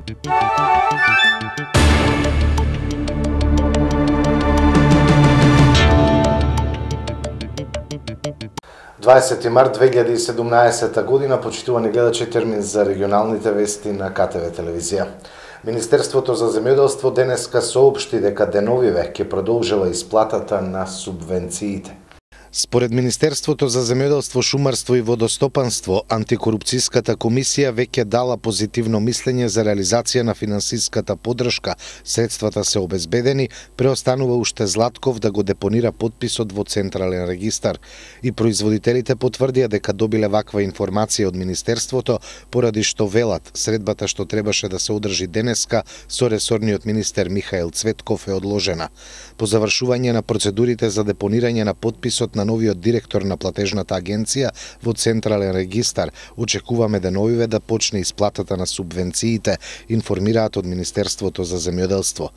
Дваесети март 2017 година, почитувани гледачи, термин за регионалните вести на КТВ телевизија. Министерството за земјоделство денеска соопшти дека деновиве ќе продолжила исплатата на субвенциите. Според Министерството за земјоделство, шумарство и водостопанство, антикорупцијската комисија веќе дала позитивно мислење за реализација на финансиската поддршка. Средствата се обезбедени, преостанува уште Златков да го депонира подписот во Централен регистар. И производителите потврдија дека добиле ваква информација од Министерството, поради што велат средбата што требаше да се одржи денеска со ресорниот министер Михаил Цветков е одложена. По завршување на процедурите за депонирање на подписот на новиот директор на платежната агенција во Централен регистар, очекуваме деновиве да почне исплатата на субвенциите, информираат од Министерството за земјоделство.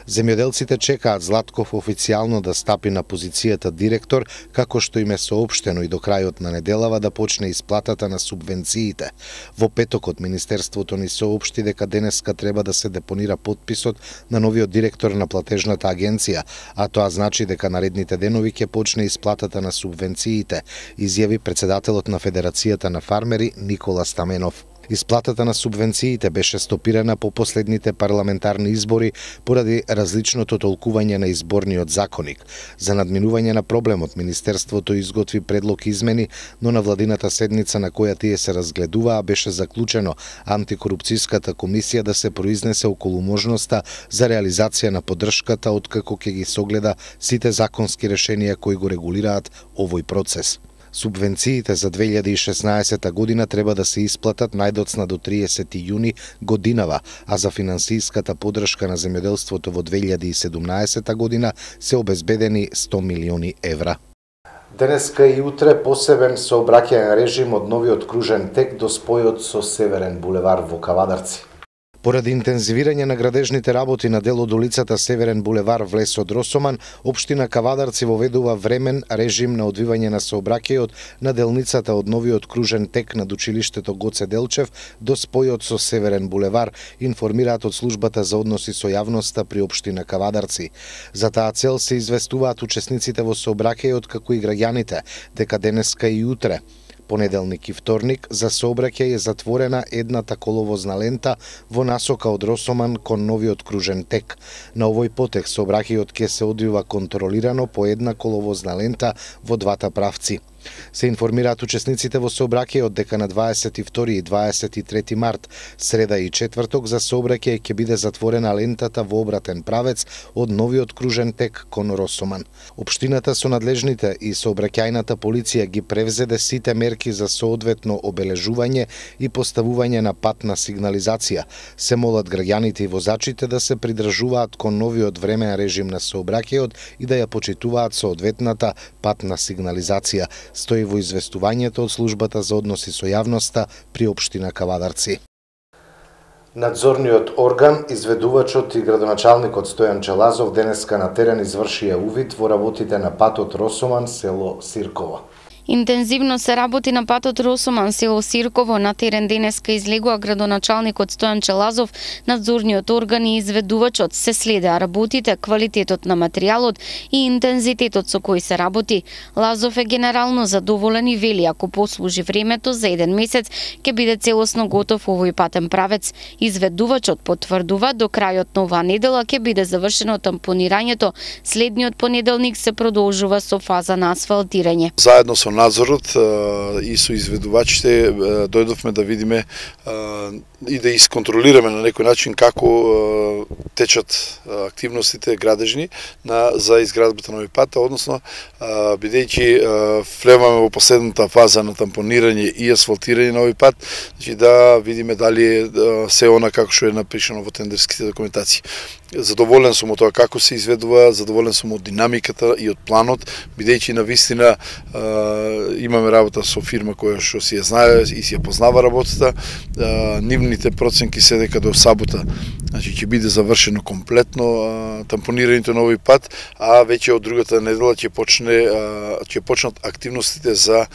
Земјоделците чекаат Златков официјално да стапи на позицијата директор, како што им е соопштено и до крајот на неделава да почне исплатата на субвенциите. Во петокот Министерството ни соопшти дека денеска треба да се депонира подписот на новиот директор на платежната агенција, а тоа значи дека наредните денови ќе почне исплатата на субвенциите, изјави председателот на Федерацијата на фармери Никола Стаменов. Исплатата на субвенциите беше стопирана по последните парламентарни избори поради различното толкување на изборниот законник. За надминување на проблемот, Министерството изготви предлог измени, но на владината седница на која тие се разгледуваа беше заклучено антикорупцијската комисија да се произнесе околу можноста за реализација на поддршката откако ќе ги согледа сите законски решенија кои го регулираат овој процес. Субвенциите за 2016 година треба да се исплатат најдоцна до 30 јуни годинава, а за финансиската поддршка на земјоделството во 2017 година се обезбедени 100 милиони евра. Денеска и утре посебен сообраќаен режим од новиот кружен тек до спојот со Северен булевар во Кавадарци. Поради интензивирање на градежните работи на дел од улицата Северен булевар влез од Росоман, општина Кавадарци воведува времен режим на одвивање на сообраќајот на делницата од новиот кружен тек над училиштето Гоце Делчев до спојот со Северен булевар, информираат од службата за односи со јавноста при општина Кавадарци. За таа цел се известуваат учесниците во сообраќајот како и граѓаните дека денеска и утре, понеделник и вторник, за сообраќај е затворена едната коловозна лента во насока од Росоман кон новиот кружен тек. На овој потек сообраќајот ќе се одвива контролирано по една коловозна лента во двата правци. Се информираат учесниците во сообраќајот дека на 22 и 23 март, среда и четврток, за сообраќај ќе биде затворена лентата во обратен правец од новиот кружен тек кон Росоман. Општината со надлежните и сообраќајната полиција ги превзеде сите мерки за соодветно обележување и поставување на патна сигнализација. Се молат граѓаните и возачите да се придржуваат кон новиот времен режим на сообраќајот и да ја почитуваат соодветната патна сигнализација, стои во известувањето од службата за односи со јавноста при општина Кавадарци. Надзорниот орган, изведувачот и градоначалникот Стојан Челазов денеска на терен извршија увид во работите на патот Росоман село Сирково. Интензивно се работи на патот Росоман село Сирково. На терен денеска излегува градоначалникот Стојан Челазов, надзорниот орган и изведувачот. Се следеа работите, квалитетот на материјалот и интензитетот со кој се работи. Лазов е генерално задоволен и вели ако послужи времето за еден месец ќе биде целосно готов овој патен правец. Изведувачот потврдува до крајот на оваа недела ќе биде завршено тампонирањето. Следниот понеделник се продолжува со фаза на асфалтирање. Заедно со надзорот и со изведувачите дојдовме да видиме и да исконтролираме на некој начин како течат активностите градежни за изградбата на овој пат, односно бидејќи влеваме во последната фаза на тампонирање и асфалтирање на овој пат, значи да видиме дали е се она како што е напишано во тендерските документации. Задоволен сум од тоа како се изведува, задоволен сум од динамиката и од планот, бидејќи навистина имаме работа со фирма која што си ја знае и си ја познава работата нивните проценки се дека до сабота ќе биде завршено комплетно тампонирањето на овој пат, а веќе од другата недела ќе почнат активностите за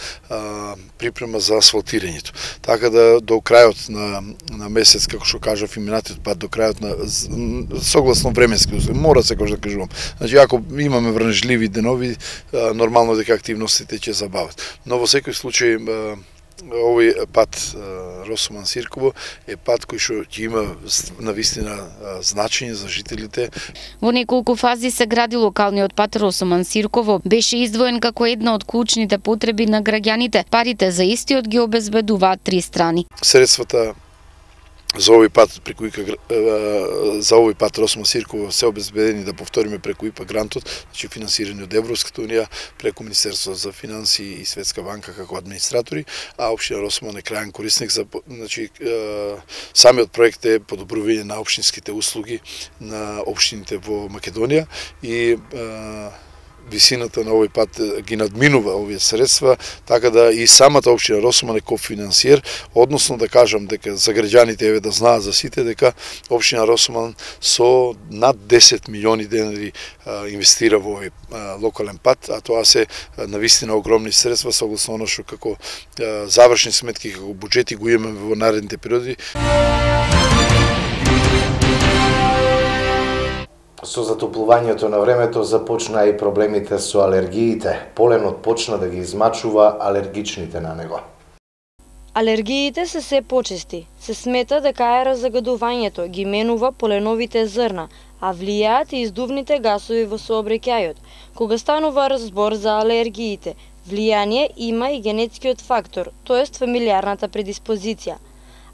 припрема за асфалтирањето. Така да до крајот на месец, како што кажав, и минатиот пат до крајот на согласно временски услови, мора секогаш да кажувам. Значи ако имаме врнежливи денови, нормално дека активностите ќе забават. Но во секој случај овој пат Росуман-Сирково е пат кој што ќе има навистина значење за жителите. Во неколку фази се гради локалниот пат Росуман-Сирково. Беше издвоен како една од клучните потреби на граѓаните. Парите за истиот ги обезбедуваат три страни. Средствата за овој пат Росуман-Сирково се обезбедени, да повториме, преку ИПА грантот, значи финансирани од Европската унија, преку Министерството за финансии и Светска банка како администратори, а општина Росуман е крајен корисник за, значи, самиот проект е подобрување на општинските услуги на општините во Македонија и висината на овој пат ги надминува овие средства, така да и самата општина Росуман е кофинансиер, односно да кажам дека за граѓаните еве да знаат за сите дека општина Росуман со над 10 милиони денари инвестира во овој локален пат, а тоа се навистина огромни средства согласно оно што како завршни сметки, како буџети го имаме во наредните периоди. Со затоплувањето на времето започна и проблемите со алергиите. Поленот почна да ги измачува алергичните на него. Алергиите се се почести. Се смета дека аерозагадувањето ги менува поленовите зрна, а влијаат и издувните гасови во сообраќајот. Кога станува разбор за алергиите, влијание има и генетскиот фактор, тоест фамилиарната предиспозиција.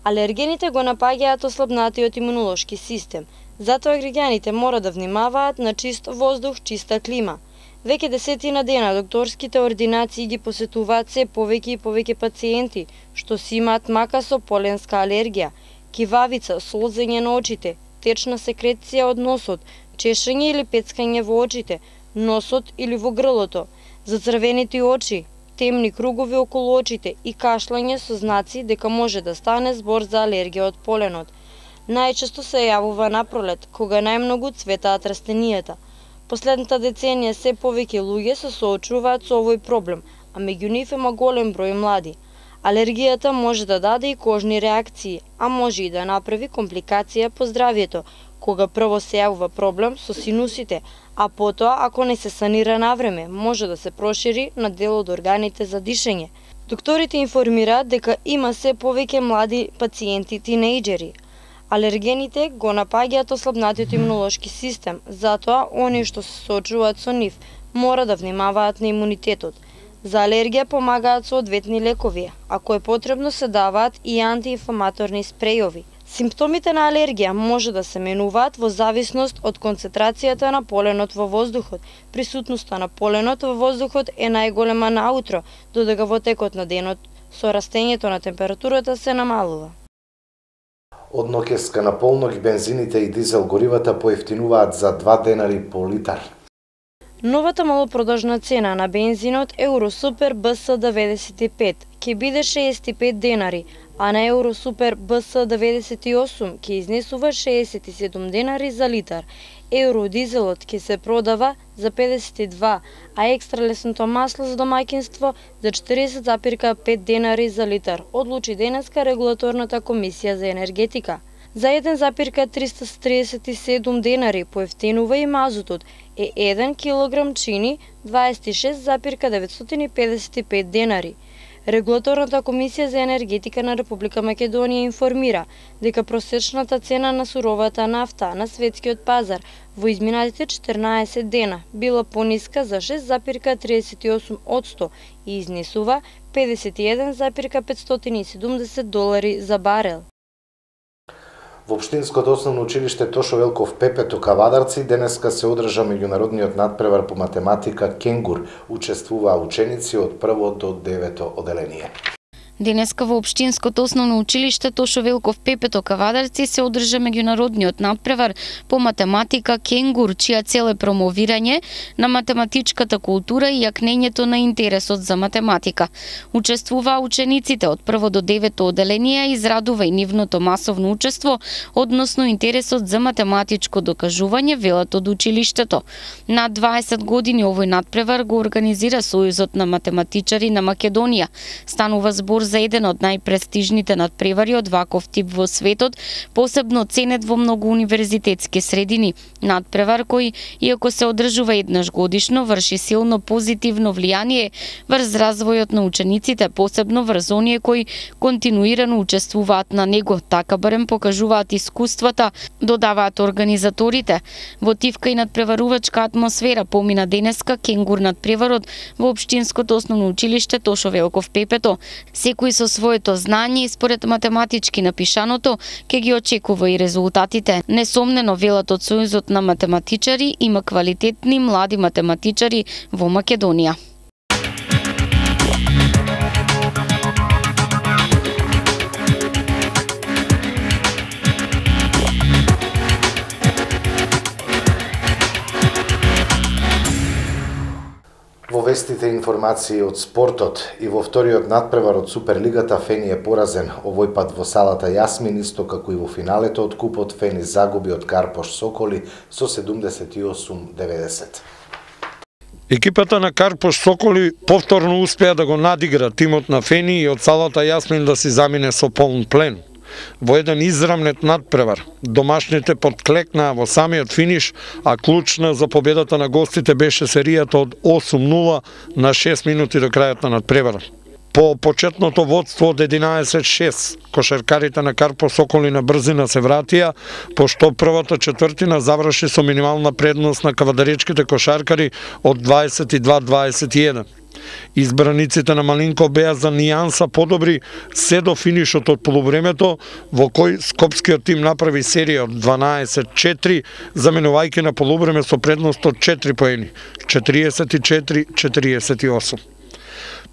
Алергените го напаѓаат ослабнатиот имунолошки систем. Затоа граѓаните мора да внимаваат на чист воздух, чиста клима. Веќе десетина дена докторските ординации ги посетуваат се повеќе и повеќе пациенти, што си имаат мака со поленска алергија, кивавица, солзење на очите, течна секреција од носот, чешење или пецкање во очите, носот или во грлото, зацрвенети очи, темни кругови околу очите и кашлање со знаци дека може да стане збор за алергија од поленот. Најчесто се јавува на пролет, кога најмногу цветаат растенијата. Последната деценија се повеќе луѓе се соочуваат со овој проблем, а меѓу нив има голем број млади. Алергијата може да даде и кожни реакции, а може и да направи компликација по здравјето, кога прво се јавува проблем со синусите, а потоа, ако не се санира навреме, може да се прошири на дел од органите за дишење. Докторите информираат дека има се повеќе млади пациенти тинејџери. Алергените го напаѓаат ослабнатиот имунолошки систем, затоа оние што се соочуваат со нив мора да внимаваат на имунитетот. За алергија помагаат соодветни лекови, ако е потребно се даваат и антиинфламаторни спрејови. Симптомите на алергија може да се менуваат во зависност од концентрацијата на поленот во воздухот. Присутноста на поленот во воздухот е најголема наутро, додека во текот на денот со растењето на температурата се намалува. Од ноќеска на полнок бензините и дизел горивата поевтинуваат за 2 денари по литар. Новата малопродажна цена на бензинот Евросупер БС-95 ќе биде 65 денари, а на Евросупер БС-98 ќе изнесува 67 денари за литар. Евродизелот ќе се продава за 52, а екстра лесното масло за домаќинство за 40,5 денари за литар, одлучи денеска регулаторната комисија за енергетика. За 1,337 денари поевтинува и мазутот, е 1 килограм чини 26,955 денари. Регулаторната комисија за енергетика на Република Македонија информира дека просечната цена на суровата нафта на светскиот пазар во изминатите 14 дена била пониска за 6,38% и изнесува $51,570 за барел. Во Општинското основно училиште Тошо Велков Пепето Кавадарци денеска се одржа меѓународниот надпревар по математика Кенгур. Учествуваа ученици од 1 до 9 оделение. Денеска во Општинското основно училиште Тошо Велков Пепето Кавадарци се одржа меѓународниот надпревар по математика Кенгур, чија цел е промовирање на математичката култура и јакнењето на интересот за математика. Учествуваа учениците од 1 до 9 оделение, израдува и нивното масовно учество, односно интересот за математичко докажување, велат од училиштето. На 20 години овој надпревар го организира Сојузот на математичари на Македонија. Станува збор за еден од најпрестижните надпревари од ваков тип во светот, посебно ценет во многу универзитетски средини. Надпревар кој, иако се одржува еднаш годишно, врши силно позитивно влијание врз развојот на учениците, посебно врз оние кои континуирано учествуваат на него, така барем покажуваат искуствата, додаваат организаторите. Во тивка и надпреварувачка атмосфера помина денеска Кенгур надпреварот во Општинското основно училиште Тошо Велков Пепето. Секој со своето знање и според математички напишаното ќе ги очекува и резултатите. Несомнено, велат од Сојузот на математичари, има квалитетни млади математичари во Македонија. Во вестите информации од спортот и во вториот надпревар од Суперлигата Фени е поразен, овој пат во салата Јасмин, исто како и во финалето од купот Фени загуби од Карпош Соколи со 78-90. Екипата на Карпош Соколи повторно успеа да го надигра тимот на Фени и од салата Јасмин да си замине со полн плен. Во еден израмнет надпревар, домашните подклекнаа во самиот финиш, а клучна за победата на гостите беше серијата од 8-0 на 6 минути до крајот на надпреварот. По почетното водство од 11-6, кошаркарите на Карпош Соколи на брзина се вратија, пошто првата четвртина заврши со минимална предност на кавадаречките кошаркари од 22-21. Избраниците на Малинко беа за нијанса подобри се до финишот од полувремето, во кој скопскиот тим направи серија од 12-4, заменувајќи на полувреме со предност од 4 поени, 44-48.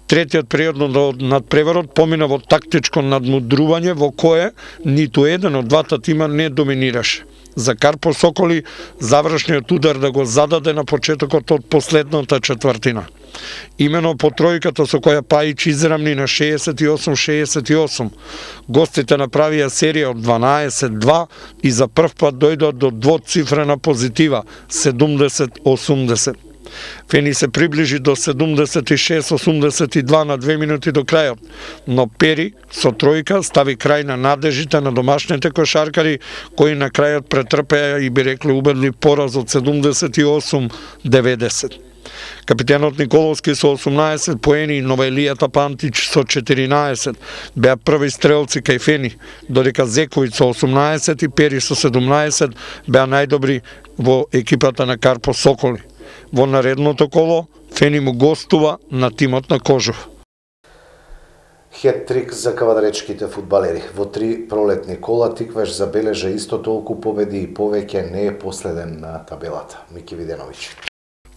Третиот период од надпреварот помина во тактичко надмудрување во кое ниту еден од двата тима не доминираше. За Карпош Соколи завршниот удар да го зададе на почетокот од последната четвртина. Имено по тројката со која Пајич израмни на 68-68, гостите направија серија од 12-2 и за прв пат дојдоа до двоцифрена позитива 70-80. Фени се приближи до 76-82 на 2 минути до крајот, но Пери со тројка стави крај на надежите на домашните кошаркари, кои на крајот претрпеа и би рекли убедлив пораз од 78-90. Капитенот Николовски со 18 поени и Новаелијата Пантич со 14 беа први стрелци кај Фени, додека Зековиќ со 18 и Пери со 17 беа најдобри во екипата на Карпош Соколи. Во наредното коло Фени му гостува на тимот на Кожув. Хет-трик за кавадаречките фудбалери. Во 3 пролетни кола Тиквеш забележа исто толку победи и повеќе не е последен на табелата. Мики Виденовиќ.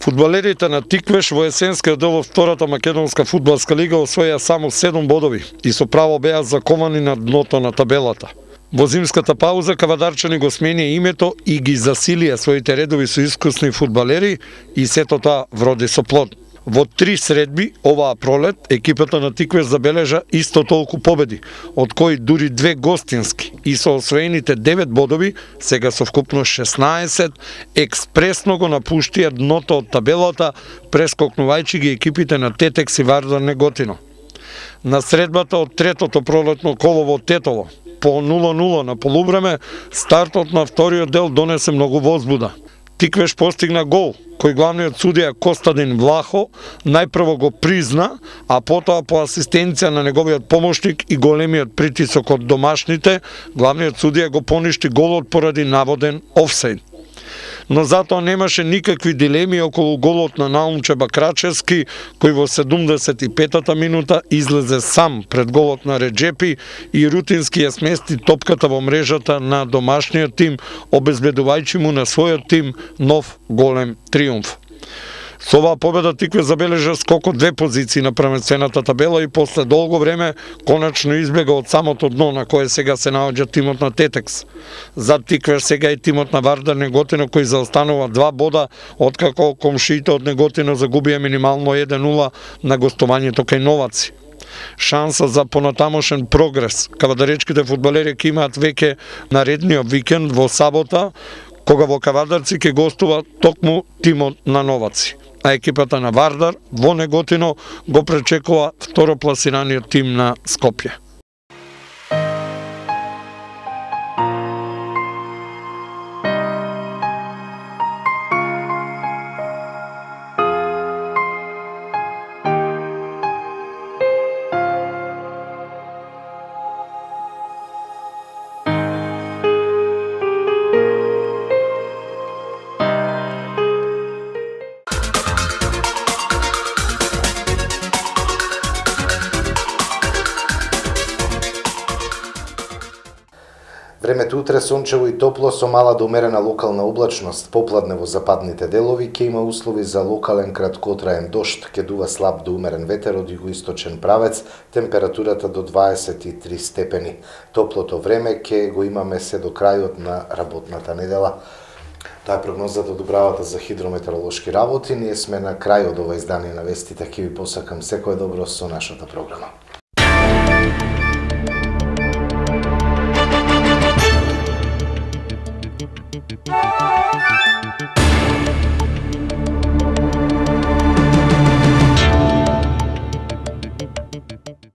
Фудбалерите на Тиквеш во есенскиот дел од втората македонска фудбалска лига освоја само 7 бодови и со право беа заковани на дното на табелата. Во зимската пауза кавадарчани го сменија името и ги засилија своите редови со искусни фудбалери и сето тоа вроди со плод. Во 3 средби оваа пролет екипата на Тиквеш забележа исто толку победи, од кои дури 2 гостински и со освоените 9 бодови, сега со вкупно 16, експресно го напуштија дното од табелата, прескокнувајќи ги екипите на Тетекс и Вардар Неготино. На средбата од третото пролетно коло во Тетово, по 0-0 на полувреме, стартот на вториот дел донесе многу возбуда. Тиквеш постигна гол, кој главниот судија Костадин Влахо најпрво го призна, а потоа по асистенција на неговиот помошник и големиот притисок од домашните, главниот судија го поништи голот поради наводен офсайд. Но затоа немаше никакви дилеми околу голот на Наумче Бакрачевски, кој во 75-та минута излезе сам пред голот на Реджепи и рутински ја смести топката во мрежата на домашниот тим, обезбедувајќи му на својот тим нов голем триумф. Со оваа победа Тикве забележа скок од 2 позиции на првенствената табела и после долго време конечно избега од самото дно на кое сега се наоѓа тимот на Тетекс. Зад Тиквеш сега и тимот на Вардар Неготино кој заостанува 2 бода откако комшиите од Неготино загубија минимално 1-0 на гостувањето кај Новаци. Шанса за понатамошен прогрес кавадаречките фудбалери ќе имаат веќе наредниот викенд во сабота, кога во Кавадарци ќе гостува токму тимот на Новаци. А екипата на Вардар во Неготино го пречекува второпласираниот тим на Скопје. Времето утре сончево и топло со мала до умерена локална облачност. Попладне во западните делови ќе има услови за локален краткотраен дожд, ќе дува слаб до умерен ветер од југоисточен правец, температурата до 23 степени. Топлото време ќе го имаме се до крајот на работната недела. Тоа е прогнозата од управата за хидрометеоролошки работи. Ние сме на крај од ова издание на вестите. Ќе ви посакам секое добро со нашата програма.